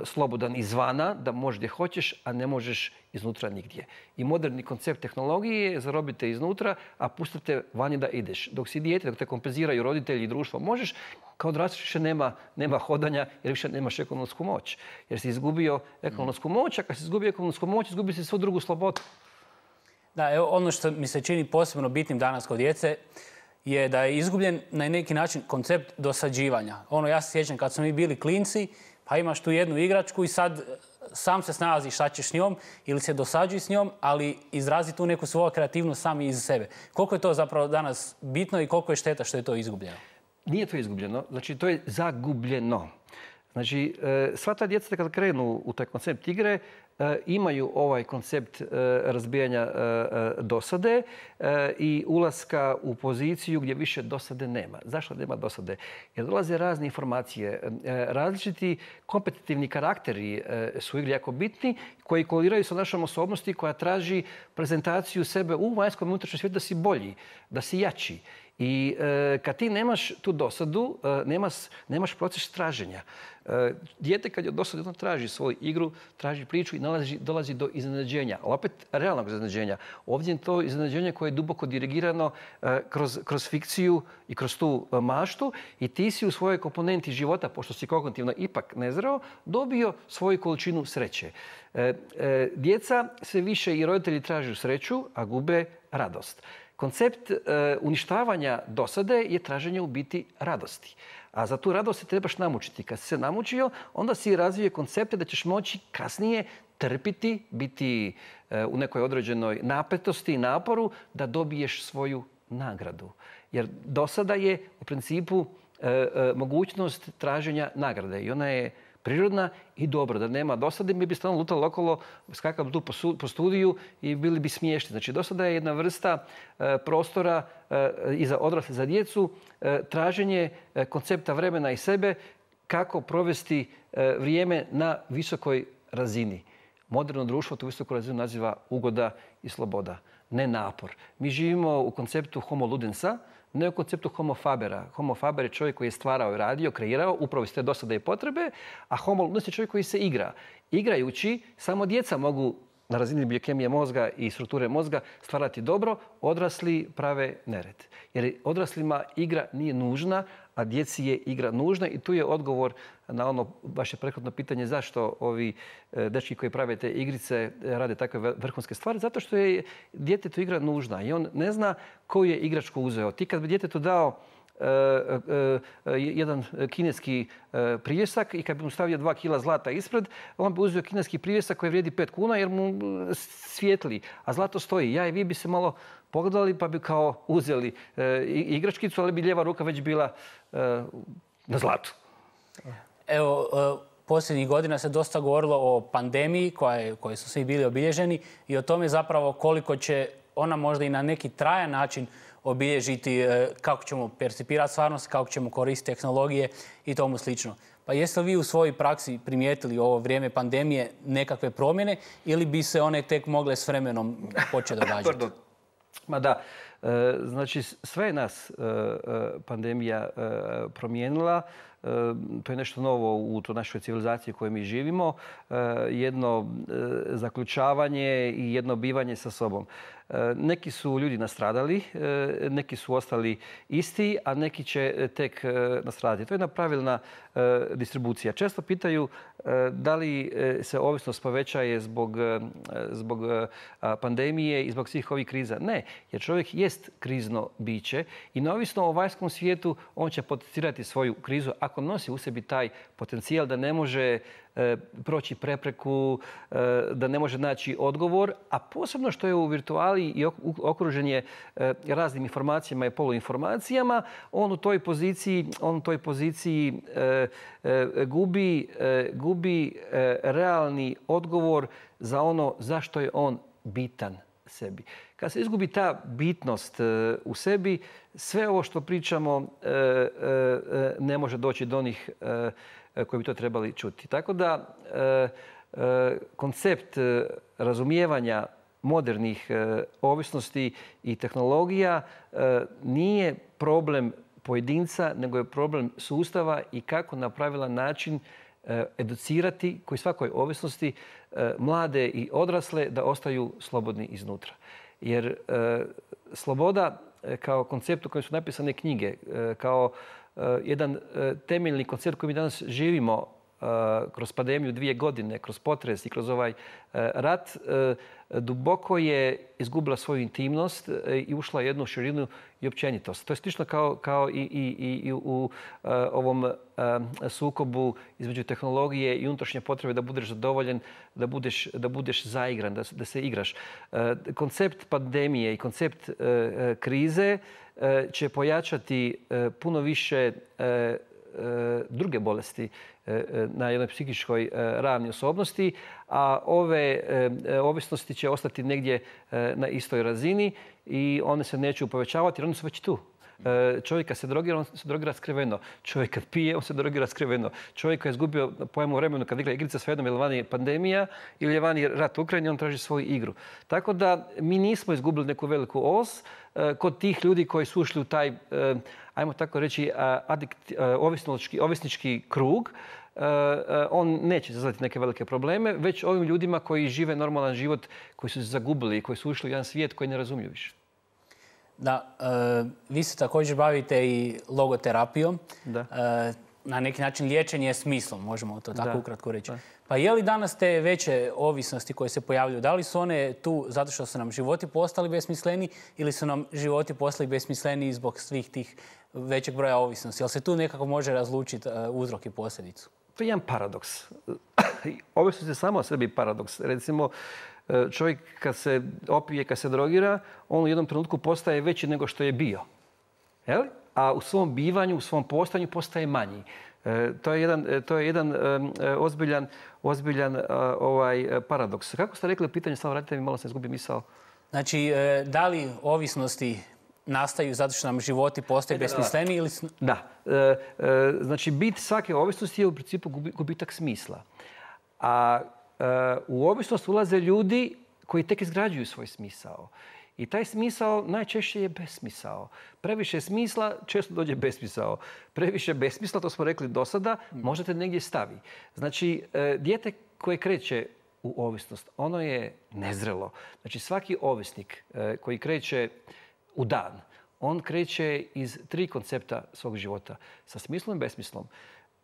slobodan izvana, da možeš gdje hoćeš, a ne možeš iznutra nigdje. I moderni koncept tehnologije je zarobite iznutra, a pustite vanje da ideš. Dok si dijete, dok te kompenziraju roditelji i društvo, možeš, kao odrastaš više nema hodanja jer više nemaš ekonomsku moć. Jer si izgubio ekonomsku moć, a kad si izgubio ekonomsku moć, izgubio si svu drugu slobodu. Da, evo ono što mi se čini posebno bitnim danas kod djece je da je izgubljen na neki način koncept dosađivanja. Ja se sjećam kad smo mi bili klinci, pa imaš tu jednu igračku i sad sam se snalazi šta ćeš s njom ili se dosađuj s njom, ali izrazi tu neku svoju kreativnost sami iz sebe. Koliko je to zapravo danas bitno i koliko je šteta što je to izgubljeno? Nije to izgubljeno, znači to je zagubljeno. Znači, sva ta djeca kad krenu u taj koncept igre, imaju ovaj koncept razbijanja dosade i ulaska u poziciju gdje više dosade nema. Zašto nema dosade? Jer dolaze razne informacije. Različiti kompetitivni karakteri su u igri jako bitni, koji koliraju sa našom osobnosti koja traži prezentaciju sebe u vanjskom i unutrašnjem svijetu da si bolji, da si jači. I kad ti nemaš tu dosadu, nemaš proces traženja. Dijete kad je dosadno traži svoju igru, traži priču i dolazi do iznenađenja. Ali opet realnog iznenađenja. Ovdje je to iznenađenje koje je duboko dirigirano kroz fikciju i kroz tu maštu i ti si u svojoj komponenti života, pošto si kognitivno ipak nezreo, dobio svoju količinu sreće. Djeca sve više i roditelji traže sreću, a gube radost. Koncept uništavanja dosade je traženje u biti radosti. A za tu radost se trebaš namučiti. Kad si se namučio, onda si razvije koncepte da ćeš moći kasnije trpiti, biti u nekoj određenoj napetosti i naporu da dobiješ svoju nagradu. Jer dosada je u principu mogućnost traženja nagrade i ona je prirodna i dobro. Da nema dosade, mi bi stalno lutali okolo, skakali tu po studiju i bili bi smiješni. Znači, dosada je jedna vrsta prostora i za odrasle, za djecu, traženje koncepta vremena i sebe, kako provesti vrijeme na visokoj razini. Moderno društvo tu visoku razinu naziva ugoda i sloboda, ne napor. Mi živimo u konceptu homo ludensa, ne u konceptu homo fabera. Homo faber je čovjek koji je stvarao, radio, kreirao, upravo iz te dosade i potrebe, a homo ludens je čovjek koji se igra. Igrajući, samo djeca mogu na razini biokemije mozga i strukture mozga stvarati dobro, odrasli prave nered. Jer odraslima igra nije nužna, a djeci je igra nužna i tu je odgovor na ono vaše prethodno pitanje zašto ovi dečki koji prave te igrice rade takve vrhunske stvari. Zato što je djetetu igra nužna i on ne zna koju je igračku uzeo. Ti kad bi djetetu dao jedan kineski privjesak i kad bi mu stavio 2 kila zlata ispred, on bi uzeo kineski privjesak koji vrijedi 5 kuna jer mu svijetli, a zlato stoji. Ja i vi bi se malo pogledali pa bi kao uzeli igračkicu, ali bi lijeva ruka već bila na zlatu. Evo, posljednjih godina se dosta govorilo o pandemiji koje su svi bili obilježeni i o tome zapravo koliko će ona možda i na neki trajan način obilježiti kako ćemo percipirati stvarnost, kako ćemo koristiti tehnologije i tomu slično. Pa jeste li vi u svojoj praksi primijetili ovo vrijeme pandemije nekakve promjene ili bi se one tek mogle s vremenom početi događati? Ma da, znači sve je nas pandemija promijenila. To je nešto novo u toj našoj civilizaciji u kojoj mi živimo. Jedno zaključavanje i jedno bivanje sa sobom. Neki su ljudi nastradali, neki su ostali isti, a neki će tek nastradati. To je jedna pravilna distribucija. Često pitaju da li se ovisnost povećaje zbog pandemije i zbog svih ovih kriza. Ne, jer čovjek jest krizno biće i neovisno o vanjskom svijetu on će potencirati svoju krizu ako nosi u sebi taj potencijal da ne može proći prepreku, da ne može naći odgovor, a posebno što je u virtuali i okružen je raznim informacijama i poluinformacijama, on u toj poziciji gubi realni odgovor za ono zašto je on bitan sebi. Kad se izgubi ta bitnost u sebi, sve ovo što pričamo ne može doći do onih koji bi to trebali čuti. Tako da koncept razumijevanja modernih ovisnosti i tehnologija nije problem pojedinca, nego je problem sustava i kako na pravilan način educirati, koji svakoj ovisnosti, mlade i odrasle da ostaju slobodni iznutra. Jer sloboda kao koncept u kojem su napisane knjige, kao jedan temeljni koncept koji mi danas živimo kroz pandemiju 2 godine, kroz potres i kroz ovaj rat, duboko je izgubila svoju intimnost i ušla u jednu širinu i općenitost. To je slično kao i u ovom sukobu između tehnologije i unutrašnje potrebe da budeš zadovoljen, da budeš zaigran, da se igraš. Koncept pandemije i koncept krize će pojačati puno više druge bolesti na jednoj psihičkoj ravni osobnosti, a ove ovisnosti će ostati negdje na istoj razini i one se neće povećavati jer one su već tu. Čovjek kad se drogira, on se drogira skriveno. Čovjek kad pije, on se drogira skriveno. Čovjek koji je izgubio pojam u vremenu kad igra igrica, svejedno je li vani pandemija ili je vani rat u Ukrajini, on traži svoju igru. Tako da mi nismo izgubili neku veliku os kod tih ljudi koji su ušli u taj, ajmo tako reći, ovisnički krug. On neće izazvati neke velike probleme, već ovim ljudima koji žive normalan život, koji su se zagubili, koji su ušli u jedan svijet koji ne razumiju više. Da, vi se također bavite i logoterapijom. Da. Na neki način liječenje smislom, možemo to tako ukratko reći. Pa je li danas te veće ovisnosti koje se pojavljuju, da li su one tu zato što su nam životi postali besmisleni ili su nam životi postali besmisleni zbog svih tih većeg broja ovisnosti? Jel se tu nekako može razlučiti uzrok i posljedicu? To je jedan paradoks. Ovisnost je samo o sebi paradoks. Recimo, čovjek kad se opije, kad se drogira, on u jednom trenutku postaje veći nego što je bio. A u svom bivanju, u svom postojanju postaje manji. To je jedan ozbiljan paradoks. Kako ste rekli pitanje, samo vratite mi, malo sam izgubio misao. Znači, da li ovisnosti nastaju zato što nam životi postaju besmisleni ili... Da. Znači, bit svake ovisnosti je u principu gubitak smisla. A u ovisnost ulaze ljudi koji tek izgrađuju svoj smisao. I taj smisao najčešće je besmisao. Previše smisla, često dođe besmisao. Previše besmisla, to smo rekli do sada, možda te negdje stavi. Znači, dijete koje kreće u ovisnost, ono je nezrelo. Znači, svaki ovisnik koji kreće u dan, on kreće iz 3 koncepta svog života. Sa smislom i besmislom.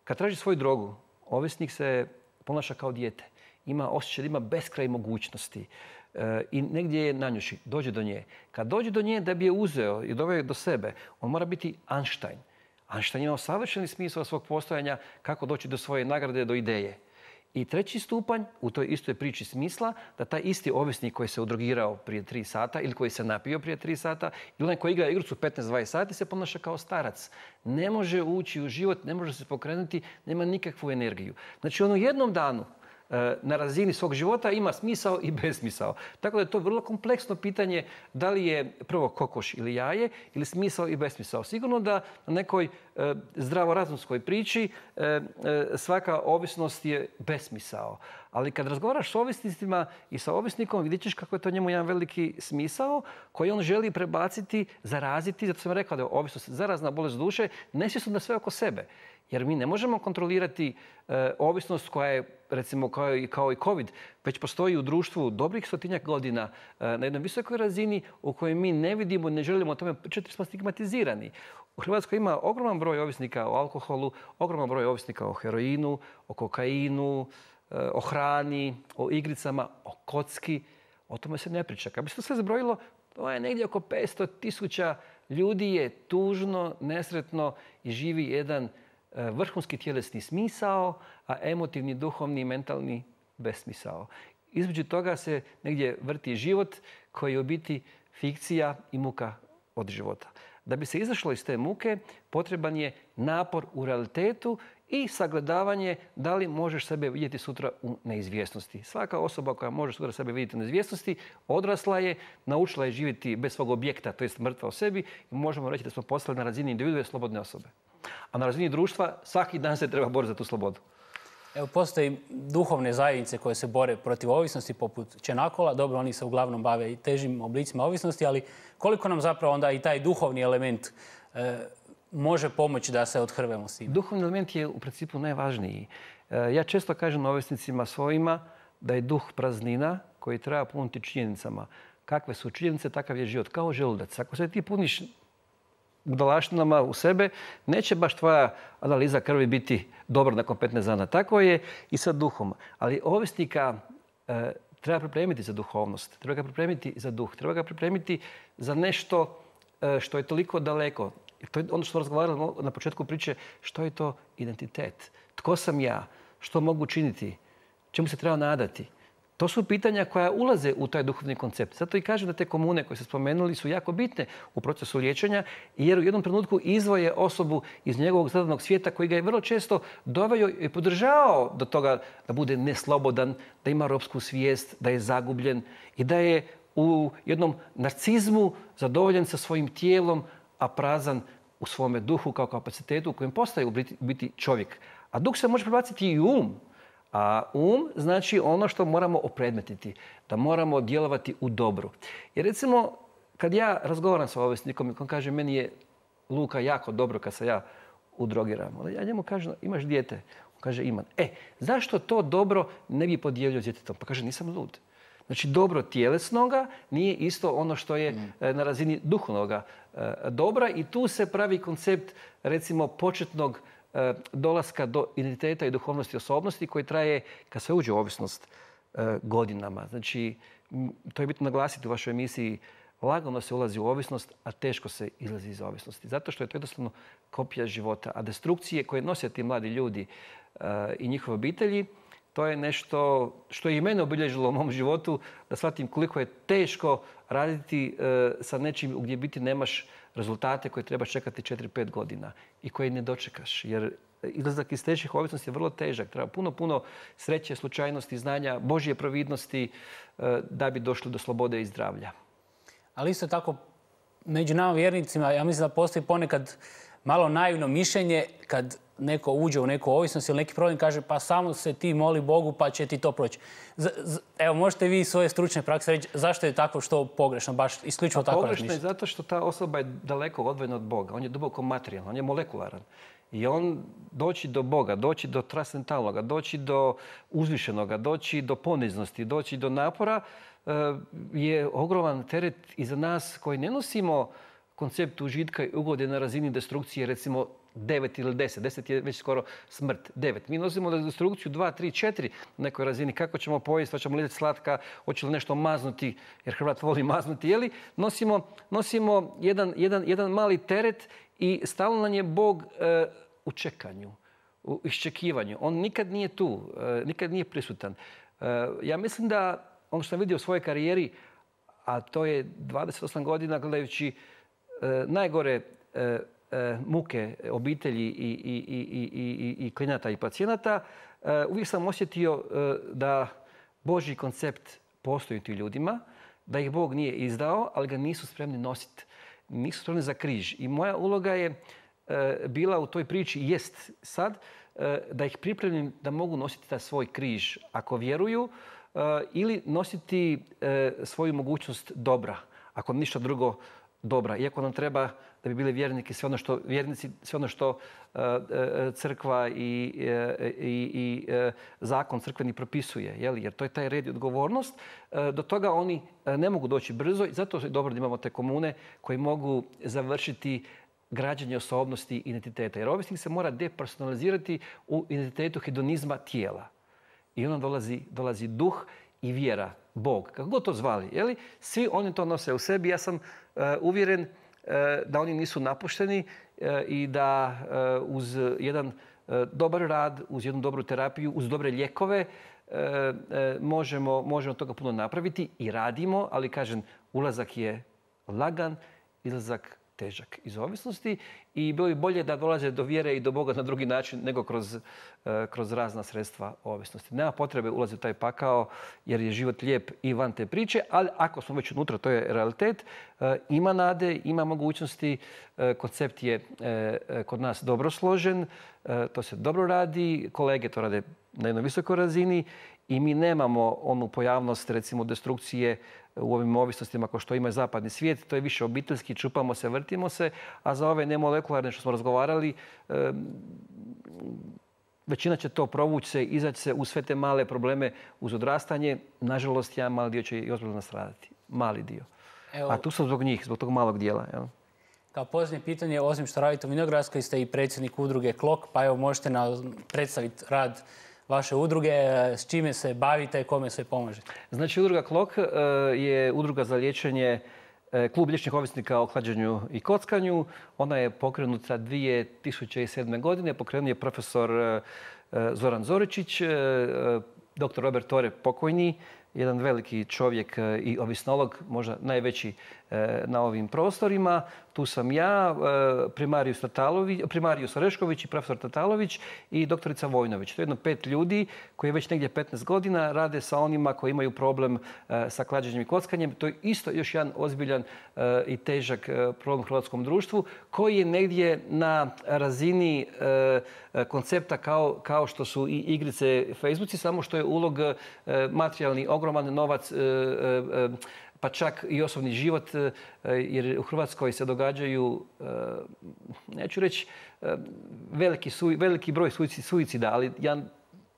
Kad traži svoju drogu, ovisnik se ponaša kao dijete. Ima osjećaj da ima beskraj mogućnosti. I negdje je nanjuši, dođe do nje. Kad dođe do nje da bi je uzeo i doveo do sebe, on mora biti Einstein. Einstein ima savršeni smisao svog postojanja kako doći do svoje nagrade, do ideje. I 3. stupanj u toj istoj priči smisla da taj isti ovisnik koji se udrogirao prije 3 sata ili koji se napio prije 3 sata ili onaj koji igra igricu 15-20 sati se ponaša kao starac. Ne može ući u život, ne može se pokrenuti, nema nikakvu energiju. Znači on u jednom danu na razini svog života ima smisao i besmisao. Tako da je to vrlo kompleksno pitanje da li je prvo kokoš ili jaje ili smisao i besmisao. Sigurno da na nekoj zdravorazumskoj priči svaka ovisnost je besmisao. Ali kad razgovaraš s ovisnicima i sa ovisnikom vidjet ćeš kako je to njemu jedan veliki smisao koji on želi prebaciti, zaraziti. Zato sam rekao da je ovisnost zarazna bolest duše, nesvjesno na sve oko sebe. Jer mi ne možemo kontrolirati ovisnost koja je, recimo, kao i COVID, već postoji u društvu dobrih 100-tinjak godina na jednoj visokoj razini u kojoj mi ne vidimo, ne želimo o tome pričati, smo stigmatizirani. U Hrvatskoj ima ogroman broj ovisnika o alkoholu, ogroman broj ovisnika o heroinu, o kokainu, o hrani, o igricama, o kocki. O tome se ne priča. Kad bi se to sve zbrojilo, to je negdje oko 500.000 ljudi je tužno, nesretno i živi jedan vrhunski tjelesni smisao, a emotivni, duhovni, mentalni besmisao. Između toga se negdje vrti život koji je u biti fikcija i muka od života. Da bi se izašlo iz te muke, potreban je napor u realitetu i sagledavanje da li možeš sebe vidjeti sutra u neizvjesnosti. Svaka osoba koja može sutra sebe vidjeti u neizvjesnosti odrasla je, naučila je živjeti bez svog objekta, to jest mrtva u sebi i možemo reći da smo postali na razini individue slobodne osobe. A na razini društva svaki dan se treba boriti za tu slobodu. Evo, postoji duhovne zajednice koje se bore protiv ovisnosti, poput Čenakola. Dobro, oni se uglavnom bave i težim oblicima ovisnosti, ali koliko nam zapravo onda i taj duhovni element može pomoći da se odhrvemo s tim? Duhovni element je u principu najvažniji. Ja često kažem ovisnicima svojima da je duh praznina koji treba puniti činjenicama. Kakve su činjenice, takav je život. Kao želudac. Ako se ti puniš budalaštinama u sebe, neće baš tvoja analiza krvi biti dobra nakon 15 dana. Tako je i sa duhom. Ali ovisnika treba pripremiti za duhovnost, treba ga pripremiti za duh, treba ga pripremiti za nešto što je toliko daleko. To je ono što smo razgovarali na početku priče, što je to identitet. Tko sam ja? Što mogu činiti? Čemu se treba nadati? To su pitanja koja ulaze u taj duhovni koncept. Zato i kažem da te komune koje ste spomenuli su jako bitne u procesu liječenja, jer u jednom trenutku izdvoje osobu iz njegovog zadanog svijeta koji ga je vrlo često doveo i podržavao do toga da bude neslobodan, da ima ropsku svijest, da je zagubljen i da je u jednom narcizmu zadovoljen sa svojim tijelom, a prazan u svome duhu kao kapacitetu u kojem postaje u biti čovjek. A duh se može prebaciti i um. A znači ono što moramo opredmetiti, da moramo djelovati u dobru. Jer recimo, kad ja razgovaram sa ovisnikom i on kaže meni je Luka jako dobro kad se ja udrogiram. Ja njemu kažem imaš dijete? On kaže imam. Zašto to dobro ne bi podijelio s djetetom? Pa kaže nisam lud. Znači dobro tjelesnoga nije isto ono što je na razini duhovnoga dobra i tu se pravi koncept recimo početnog dolaska do identiteta i duhovnosti osobnosti koji traje kad se uđe u ovisnost godinama. Znači, to je bitno naglasiti u vašoj emisiji, lagano se ulazi u ovisnost, a teško se izlazi iz ovisnosti. Zato što je to jednostavno kopija života. A destrukcije koje nose ti mladi ljudi i njihove obitelji, to je nešto što je i mene obilježilo u mom životu, da shvatim koliko je teško raditi sa nečim gdje biti nemaš rezultate koje trebaš čekati 4-5 godina i koje ne dočekaš. Jer izlazak iz teških ovisnosti je vrlo težak. Treba puno sreće, slučajnosti, znanja, Božje providnosti da bi došli do slobode i zdravlja. Ali isto tako, među nama vjernicima, ja mislim da postoji ponekad malo naivno mišljenje kad neko uđe u neku ovisnost ili neki problem kaže pa samo se ti moli Bogu pa će ti to proći. Evo, možete vi iz svoje stručne prakse reći zašto je tako što pogrešno, baš isključivo tako razmišljati? Pogrešno je zato što ta osoba je daleko odvojena od Boga. On je duboko materijalan, on je molekularan. I on doći do Boga, doći do transcendentalnoga, doći do uzvišenoga, doći do poniznosti, doći do napora je ogroman teret i za nas koji ne nosimo koncept užitka i ugode na razini destrukcije, recimo 9 ili 10. 10 je već skoro smrt. 9. Mi nosimo destrukciju 2, 3, 4 na nekoj razini. Kako ćemo pojesti, hoćemo li slatka, hoće li nešto maznuti, jer Hrvat voli maznuti, jeli? Nosimo jedan mali teret i stalno nam je Bog u čekanju, u iščekivanju. On nikad nije tu, nikad nije prisutan. Ja mislim da ono što sam vidio u svojoj karijeri, a to je 28 godina gledajući najgore muke obitelji i klijenata i pacijenata, uvijek sam osjetio da Božji koncept postoji u tim ljudima, da ih Bog nije izdao, ali ga nisu spremni nositi. Nisu spremni za križ. I moja uloga je bila u toj priči, jest sad, da ih pripremim da mogu nositi taj svoj križ ako vjeruju ili nositi svoju mogućnost dobra, ako ništa drugo dobra. Iako nam treba da bi bili vjernici sve ono što crkva i zakon crkveni propisuje. Jer to je taj red i odgovornost. Do toga oni ne mogu doći brzo i zato je dobro da imamo te komune koji mogu završiti građenje osobnosti i identiteta. Jer ovisnik se mora depersonalizirati u identitetu hedonizma tijela. I onda dolazi duh i vjera, Bog, kako god to zvali. Jeli? Svi oni to nose u sebi. Ja sam uvjeren da oni nisu napušteni i da uz jedan dobar rad, uz jednu dobru terapiju, uz dobre lijekove možemo od toga puno napraviti i radimo, ali kažem, ulazak je lagan, izlazak težak iz ovisnosti i bilo bi bolje da dolaze do vjere i do Boga na drugi način nego kroz razna sredstva ovisnosti. Nema potrebe ulaziti u taj pakao jer je život lijep i van te priče, ali ako smo već unutra, to je realitet, ima nade, ima mogućnosti, koncept je kod nas dobro složen, to se dobro radi, kolege to rade na jednoj visokoj razini i mi nemamo onu pojavnost, recimo, destrukcije u ovim ovisnostima kao što ima zapadni svijet. To je više obiteljski, čupamo se, vrtimo se, a za ove nemolekularne što smo razgovarali, većina će to provući se, izaći se u sve te male probleme uz odrastanje. Nažalost, jedan mali dio će i ozbiljno nastradati. Mali dio. A tu sam zbog njih, zbog tog malog dijela. Jel? Kao posljednje pitanje, osim što radite u Vinogradskoj, ste i predsjednik udruge Klok, pa evo možete predstaviti rad vaše udruge, s čime se bavite i kome sve pomažete. Znači, udruga Klok je udruga za liječenje, klub liječenih ovisnika o klađenju i kockanju. Ona je pokrenuta 2007. godine. Pokrenuo je profesor Zoran Zoričić, dr. Robert Tore pokojni, jedan veliki čovjek i ovisnolog, možda najveći na ovim prostorima. Tu sam ja, primarius Orešković i profesor Tatalović i doktorica Vojnović. To je jedno 5 ljudi koji već negdje 15 godina rade sa onima koji imaju problem sa klađenjem i kockanjem. To je isto još jedan ozbiljan i težak problem u hrvatskom društvu koji je negdje na razini koncepta kao što su i igrice Facebooci, samo što je ulog materijalni, ogroman novac, pa čak i osobni život, jer u Hrvatskoj se događaju, neću reći veliki broj suicida, ali jedan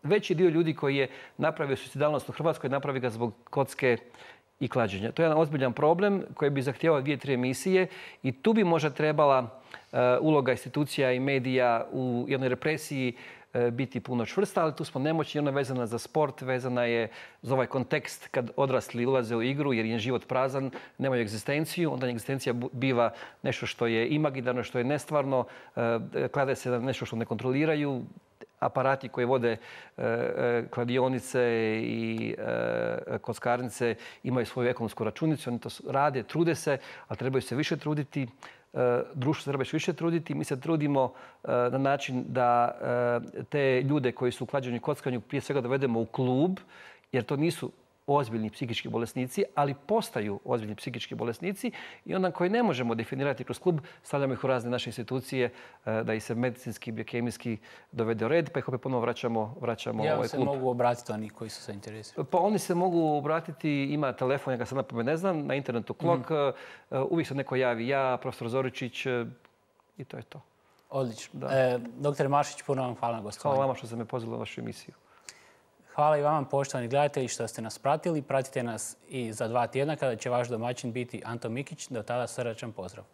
veći dio ljudi koji je napravio suicidalnost u Hrvatskoj, napravi ga zbog kocke i klađenja. To je jedan ozbiljan problem koji bi zahtijevao 2-3 emisije i tu bi možda trebala uloga institucija i medija u jednoj represiji biti puno čvrsta, ali tu smo nemoćni. Ona je vezana za sport, vezana je za ovaj kontekst kad odrasli ulaze u igru jer je život prazan, nemaju egzistenciju. Onda egzistencija biva nešto što je imaginarno, što je nestvarno, klade se na nešto što ne kontroliraju. Aparati koji vode kladionice i kockarnice imaju svoju ekonomsku računicu. Oni to rade, trude se, ali trebaju se više truditi. Društvo se treba više truditi. Mi se trudimo na način da te ljude koji su u klađenju i kockanju prije svega dovedemo u klub, jer to nisu ozbiljni psihički bolesnici, ali postaju ozbiljni psihički bolesnici i onda koji ne možemo definirati kroz klub, stavljamo ih u razne naše institucije da ih se medicinski, biokemijski dovede u red, pa ih opet ponovo vraćamo u ovaj klub. Se mogu obratiti oni koji su zainteresirani? Pa oni se mogu obratiti, ima telefon, ja ga sad napamet ne znam, na internetu Klok, uvijek se neko javi, ja, profesor Zoričić i to je to. Odlično. Doktore Maršić, puno vam hvala na gostovanju. Hvala vama što ste me pozvali u vašu emisiju. Hvala i vama, poštovani gledatelji, što ste nas pratili. Pratite nas i za 2 tjedna kada će vaš domaćin biti Anto Mikić. Do tada srdačan pozdrav.